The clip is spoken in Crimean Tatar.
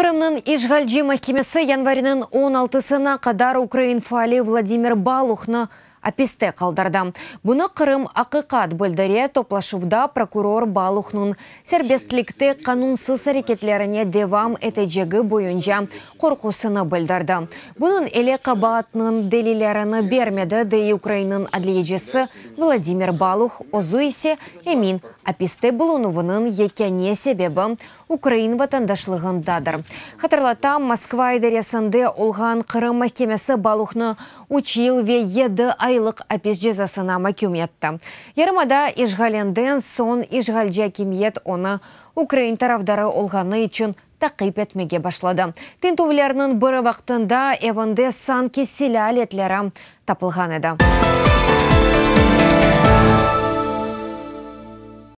Qırımnıñ işğalci mahkemesi yanvarniñ 16-sına qadar ukrain faali Vladimir Baluhnı apiste qaldırdı. Bunı Qırım. Aqiqat bildire. Toplaşuvda prokuror Baluhnıñ serbestlikte qanunsız areketlerine devam etecegi boyunca qorqusını bildirdi. Bunıñ ile qabaatnıñ delillerini bermedi, dey Ukrainıñ adliyecisi Vladimir Baluh, özü ise emin, apiste bulunuvınıñ yekâne sebebi ukrain vatandaşlığındadır. Hatırlatam, Moskva idaresinde olğan Qırım mahkemesi Baluhnı üç yıl ve yedi aylıq apis cezasına maküm etti. Yarımada işğalinden soñ işğalci akimiyet onı ukrain tarafdarı olğanı içün taqip etmege başladı. Tintüvlerniñ biri vaqtında evinde sanki silâ aletleri tapılğan edi.